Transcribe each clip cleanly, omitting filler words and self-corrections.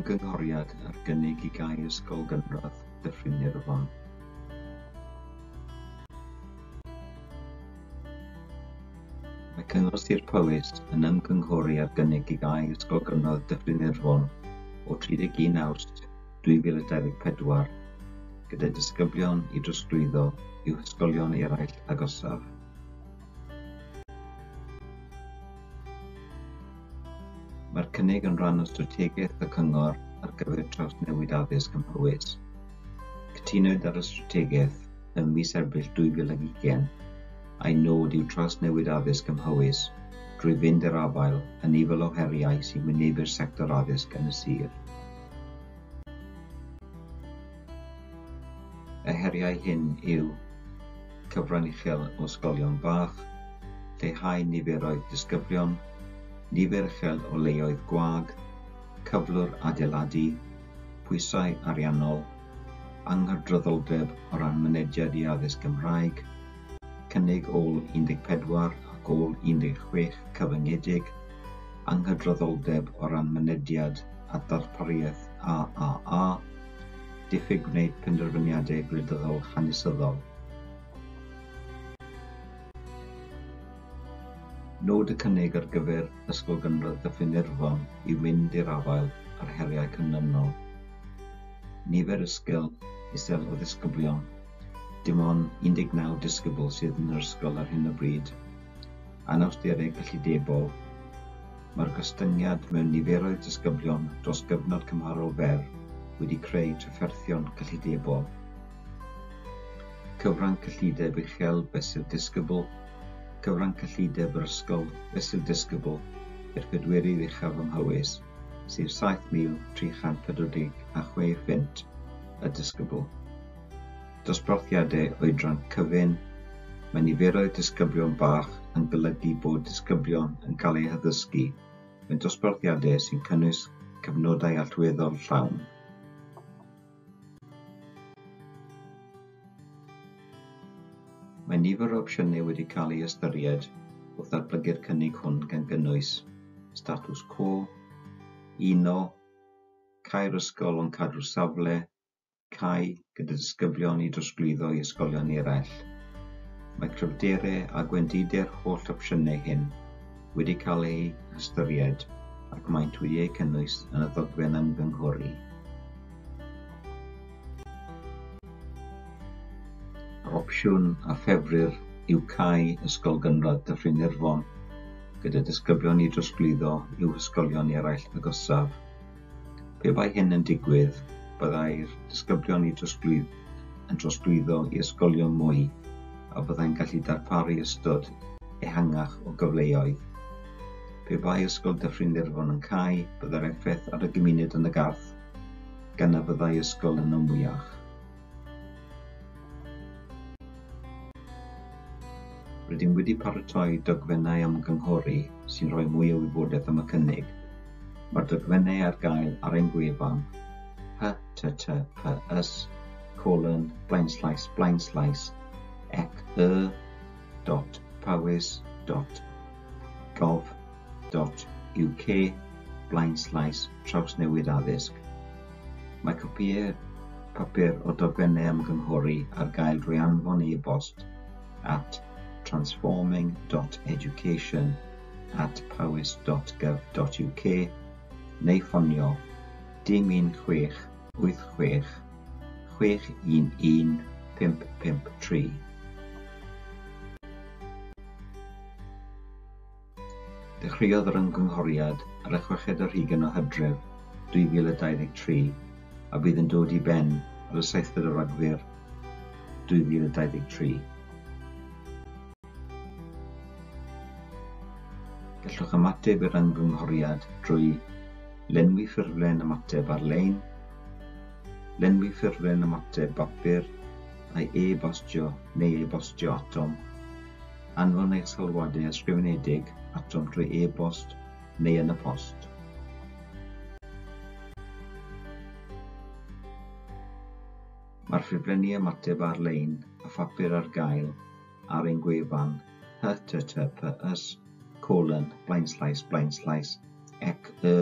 Ymgynghoriad ar gynnig i gau Ysgol Gynradd Dyffryn Irfon. Mae Cyngor Sir Powys yn ymgynghori ar gynnig i gau Ysgol Gynradd Dyffryn Irfon o 31 Awst 2024, gyda disgyblion i drosglwyddo i'w hysgolion eraill agosaf. Mae'r cynnig yn rhan o strategaeth y Cyngor ar gyfer trawsnewid addysg ym Mhowys. Cytunwyd ar y strategaeth ym mis Ebrill 2020, a'i nod yw trawsnewid addysg ym Mhowys drwy fynd i'r afael â nifer o heriau sy'n wynebu'r sector addysg yn y sir. Y heriau hyn yw cyfran uchel o ysgolion bach, lleihau niferoedd disgyblion, nifer uchel o leoedd gwag, cyflwr adeiladu, pwysau ariannol, anghydraddoldeb o ran mynediad i addysg Gymraeg, cynnig ôl 14 ac ôl 16 cyfyngedig, anghydraddoldeb o ran mynediad at ddarpariaeth AAA, diffyg gwneud penderfyniadau gwleidyddol hanesyddol. Nod y cynnig ar gyfer Ysgol Gynradd Dyffryn Irfon yw mynd i'r afael â'r heriau canlynol. Nifer ysgol isel o ddisgyblion, dim ond 19 disgybl sydd yn yr ysgol ar hyn o bryd. Anawsterau cyllidebol, Mae'r gostyngiad mewn niferoedd disgyblion dros gyfnod cymharol fer wedi creu trafferthion cyllidebol. Cyfran cyllideb uchel fesul disgybl, Cyfran cyllideb yr ysgol fesul disgybl i'r pedwerydd uchaf ym Mhowys, sef 7,346 phunt y disgybl. Dosbarthiadau oedran cyfun, Mae niferoedd disgyblion bach yn golygu bod disgyblion yn cael eu haddysgu mewn dosbarthiadau sy'n cynnwys cyfnodau allweddol llawn. Mae nifer o opsiynau wedi cael eu hystyried wrth ddatblygu'r cynnig hwn gan gynnwys statws quo, uno, cau'r ysgol ond cadw'r safle, cau gyda disgyblion i drosglwyddo i ysgolion eraill. Mae cryfderau a gwendidau'r holl opsiynau hyn wedi cael eu hystyried ac maent wedi eu cynnwys yn y ddogfen ymgynghori. Yr opsiwn a ffefrir yw cau Ysgol Gynradd Dyffryn Irfon gyda disgyblion i drosglwyddo i'w hysgolion eraill agosaf. Pe bai hyn yn digwydd, byddai'r disgyblion i yn trosglwyddo i ysgolion mwy a byddai'n gallu darparu ystod ehangach o gyfleoedd. Pe bai Ysgol Dyffryn Irfon yn cau, byddai'r effaith ar y gymuned yn y Garth, gan na fyddai ysgol yno mwyach. Rydym wedi paratoi dogfennau ymgynghori sy'n rhoi mwy o wybodaeth am y cynnig. Mae'r dogfennau ar gael ar ein gwefan https colon blaenslaes blaenslaes ec y dot powys dot gov dot uk blaenslaes trawsnewid addysg. Mae copïau papur o dogfennau ymgynghori ar gael drwy anfon e-bost at transforming.education at powys.gov.uk neu ffonio dim 1 6 8 6 6 1 1 5 5 3. Dechreuodd yr ymgynghoriad ar y chweched ar hugain o Hydref 2023 a bydd yn dod i ben ar y seithfed o Ragfyr 2023. Gallwch ymateb i'r ymgynghoriad drwy lenwi ffurflen ymateb ar-lein, lenwi ffurflen ymateb bapur a'i e-bostio neu e-bostio atom, Anfon eich sylwadau ysgrifenedig atom drwy e-bost neu yn y post. Mae'r ffurflenni ymateb ar-lein a phapur ar gael ar ein gwefan https colon blaenslaes blaenslaes ec y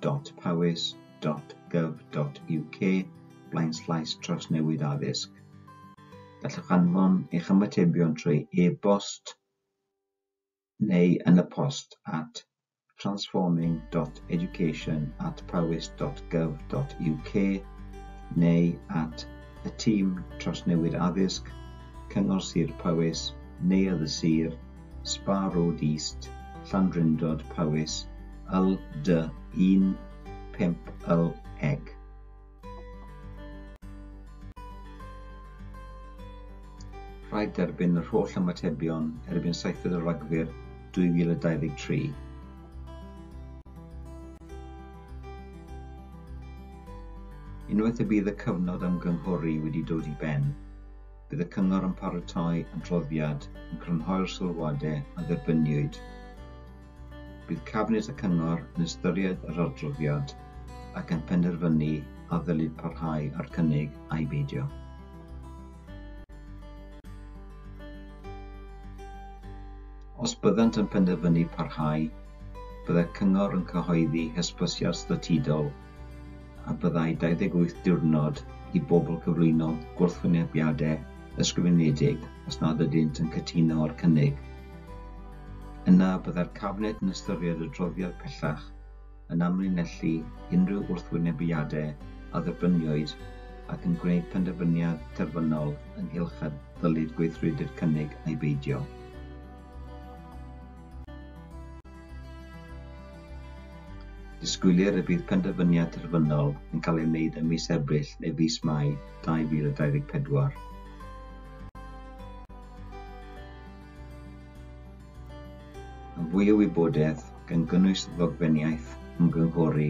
dot powys powys.gov.uk /trawsnewid addysg. Gallwch anfon eich ymatebion trwy e-bost neu yn y post at transforming.education@powys.gov.uk neu at y Tîm Trawsnewid Addysg, Cyngor Sir Powys, Neuadd y Sir, Spa Road East, Llandrindod, Powys, LD1 5LEG. Rhaid derbyn yr holl ymatebion erbyn 7 Rhagfyr 2023. Unwaith y bydd y cyfnod ymgynghori wedi dod i ben, bydd y cyngor yn paratoi adroddiad yn crynhoi'r sylwadau a dderbyniwyd. Bydd Cabinet y Cyngor yn ystyried yr adroddiad ac yn penderfynu a ddylid parhau â'r cynnig ai beidio. Os byddant yn penderfynu parhau, byddai'r cyngor yn cyhoeddi hysbysiad statudol a byddai 28 diwrnod i bobl gyflwyno gwrthwynebiadau ysgrifenedig os nad ydynt yn cytuno â'r cynnig. Yna byddai'r Cabinet yn ystyried adroddiad pellach yn amlinellu unrhyw wrthwynebiadau a dderbyniwyd ac yn gwneud penderfyniad terfynol ynghylch a ddylid gweithredu'r cynnig ai beidio. Disgwylir y bydd penderfyniad terfynol yn cael ei wneud ym mis Ebrill neu fis Mai 2024. Am fwy o wybodaeth, gan gynnwys ddogfeniaeth ymgynghori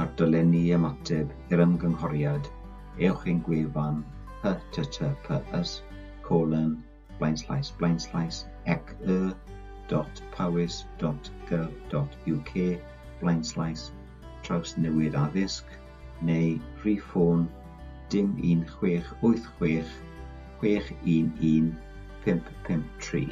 a'r dolenni i ymateb i'r ymgynghoriad, ewch i'n gwefan https://ec.powys.gov.uk /trawsnewid addysg neu rhif ffôn 01686 611 553.